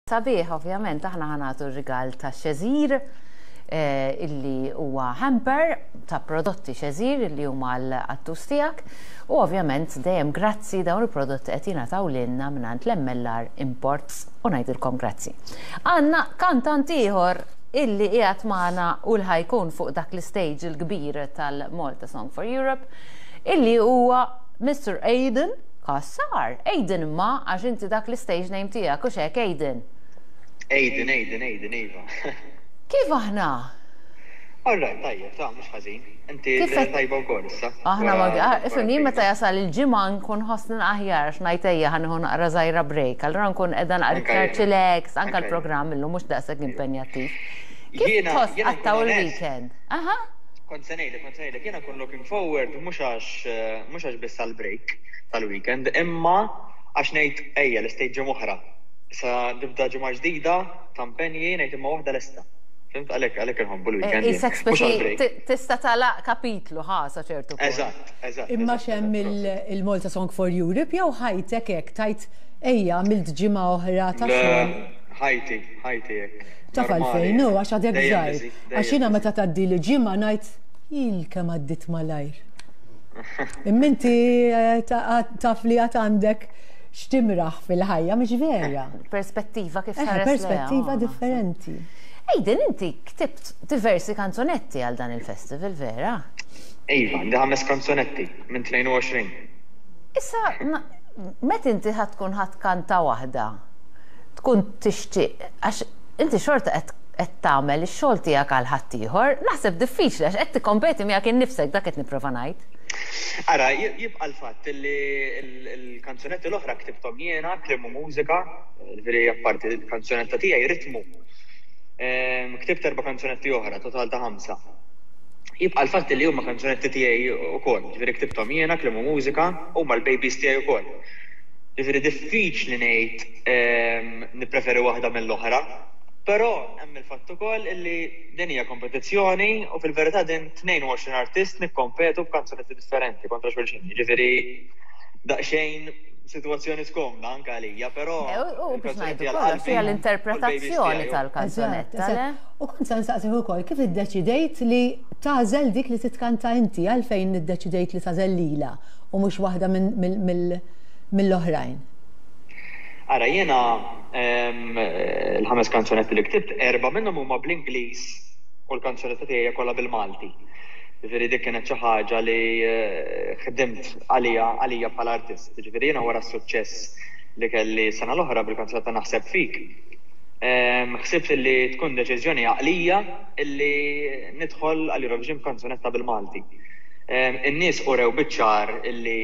Sabiħ, ovvjament, aħna ħa nagħtu r-rigal ta' Xeżir eh, illi huwa hamper ta' prodotti Xeżir illi huma l-qattus tiegħek u ovvjament dejjem grazzi dawn il-prodotti qed jingħataw lilna mingħand l-MLR Imports u ngħidilkom grazzi. Għandna kantant ieħor illi qiegħed magħna u l ħajkun fuq dak l-istage il-kbir tal-Malta Song for Europe illi huwa Mr. Aiden Cassar, Aiden imma għax inti dak l-istage name tiegħek hux hekk Aiden? Aiden, Aiden, Aiden, iva. Kif aħna? All right, tajjeb, ta' mhux ħażin. Inti Kif qed tajba wkoll issa. Aħna ma ifhimni jien meta jasal il-ġimgħa nkun ħossni aħjar għax ngħid ejja ħa nieħu naqra żgħira break, allura nkun qiegħda naqra iktar chillax, anke l-programm illum mhux daqshekk impenjattiv. Kif tħoss tqattgħu l-weekend? Aha. Kont se ngħidlek, kont se ngħidlek, jiena nkun looking forward mhux għax mhux għax biss għall-break tal-weekend, imma għax ngħid ejja lestejt ġimgħa oħra. Issa nibda ġimgħa ġdida ta' impenji ngħid imma waħda lesta. Fhimt? Għalhekk għalhekk inħobbu l-weekend jien. Qisek Mhux speċi għall-break. tista' tagħlaq kapitlu ħa sa ċertu punt. Eżatt, eżatt, Imma eżatt, x'hemm eżatt, proset. il-Malta Song for Europe jew ħajtek hekk tgħid ejja għamilt ġimgħa oħra ta' Le, xogħol? ħajti, ħajti hekk. Taf Normali, għalfejn, hu għax għadek dejjem żgħir. busy, Għax dejjem jiena busy. meta tgħaddili ġimgħa ngħid il kemm għaddiet malajr. Imma inti eh, taf li għad għandek x'timraħ fil-ħajja, mhix vera. Perspettiva kif Eh, tħares lejha, perspettiva oh, naħseb. differenti. Aiden, inti ktibt diversi kanzunetti għal dan il-festival, vera? Iva, għandi ħames kanzunetti minn 22. Issa, meta inti ħa tkun ħa tkanta waħda, tkun tixtieq, għax inti xorta qed qed tagħmel ix-xogħol tiegħek għal ħaddieħor, naħseb diffiċli għax qed tikkompeti miegħek innifsek dak qed nipprova ngħid. Ara, jibqa' l-fatt li l-kanzunetti l-oħra ktibthom jiena, kliem u mużika, jiġifieri apparti l-kanzunetta tiegħi ritmu. Ktibt erba' kanzunetti oħra, total ta' ħamsa. Jibqa' l-fatt li huma kanzunetti tiegħi wkoll, jiġifieri ktibthom jiena, kliem u mużika, huma l-babies tiegħi wkoll. Jiġifieri diffiċli ngħid nippreferi waħda mill-oħra, però hemm il-fatt ukoll illi din hija kompetizzjoni u fil-verità din 22 artist nikkompetu b'kanzunetti differenti kontra xulxin. Jiġifieri daqsxejn sitwazzjoni skomda anke għalija, però U biex ngħidu kollox hija l-interpretazzjoni tal-kanzunetta, le? U kont se nsaqsik ukoll kif iddeċidejt li tagħżel dik li titkanta inti, għalfejn iddeċidejt li tagħżel lilha u mhux waħda mill-oħrajn? Ara, jiena l-ħames kanzunetti li ktibt, erbgħa minnhom huma bl-Ingliż u l-kanzunetta tiegħi hija kollha bil-Malti. Jiġifieri dik kienet xi ħaġa li ħdimt għaliha għalija bħala artist. Jiġifieri jiena wara s-suċċess li kelli s-sena l-oħra bil-kanzunetta Naħseb Fik, ħsibt li tkun deċiżjoni għaqlija li nidħol għall-Eurovision b'kanzunetta bil-Malti. In-nies urew biċ-ċar li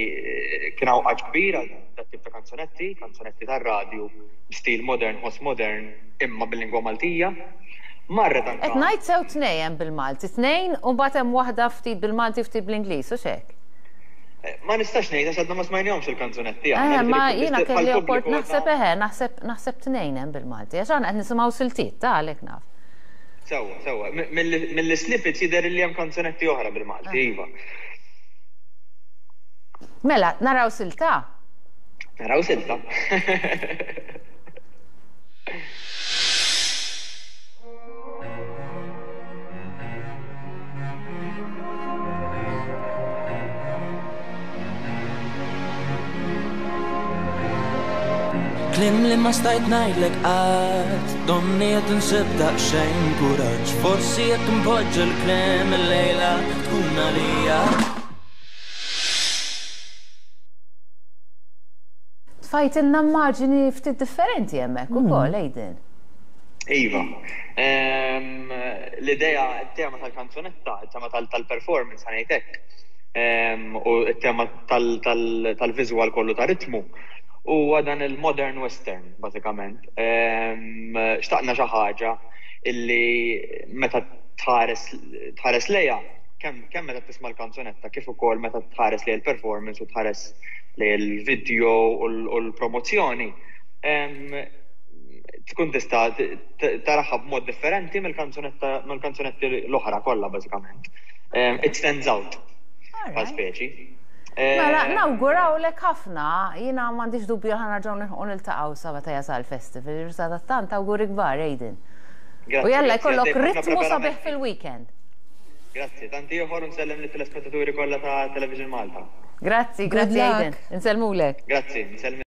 kien hawn għatx kbir għal dat-tip ta' kanzunetti, kanzunetti tar-radju b'stil modern, ħoss modern, imma bil-lingwa Maltija. Marret anke. Qed ngħid sew tnej hemm bil-Malti, tnejn u mbagħad hemm waħda ftit bil-Malti u ftit bl-Ingliż, hux hekk? Ma nistax ngħid għax għadna ma smajnihomx il-kanzunetti aħna, Eħe, ma jiġifieri jiena kelli bħall-pubbliku opport għadna. naħseb eħe, naħseb naħseb tnejn hemm bil-Malti, għax aħna qed nisimgħu siltiet, ta' għalhekk naf. Sewwa, sewwa. Mill-snippets jidher li hemm kanzunetti oħra bil-Malti, iva. Mela, naraw silta? Naraw silta. Kliem li ma stajt ngħidlek qatt, donni qed insib daqsxejn kuraġġ, forsi jekk npoġġi l-kliem illejla tkun għalija. Tfajtilna immaġini ftit differenti hemmhekk ukoll, Aiden. Iva. Ehm, l-idea, it-tema tal-kanzunetta, it-tema tal-performance, ħa ngħid hekk, ehm, u t-tema tal-viżwal kollu ta' ritmu, huwa dan il-modern western, bażikament. Ehm, xtaqna xi ħaġa illi meta tħares tħares lejha, kemm kemm meta tisma' l-kanzunetta kif ukoll meta tħares lejn il-performance u tħares lejn il-video u l-promozzjoni, tkun tista' taraha b'mod differenti mill-kanzunetta mill-kanzunetti l-oħra kollha bażikament. It stands out bħal speċi. Mela, nawgurawlek ħafna, jiena m'għandix dubju ħa nerġgħu nilħqu niltaqgħu sa meta jasal il-festival, sadattant awguri kbar Aiden. U jalla jkollok ritmu sabiħ fil-weekend. Grazzi, tant ieħor u nsellem lit-telespettaturi kollha ta' Television Malta. Grazzi, grazzi Aiden. Insellmulek. Grazzi, nsellmilkom.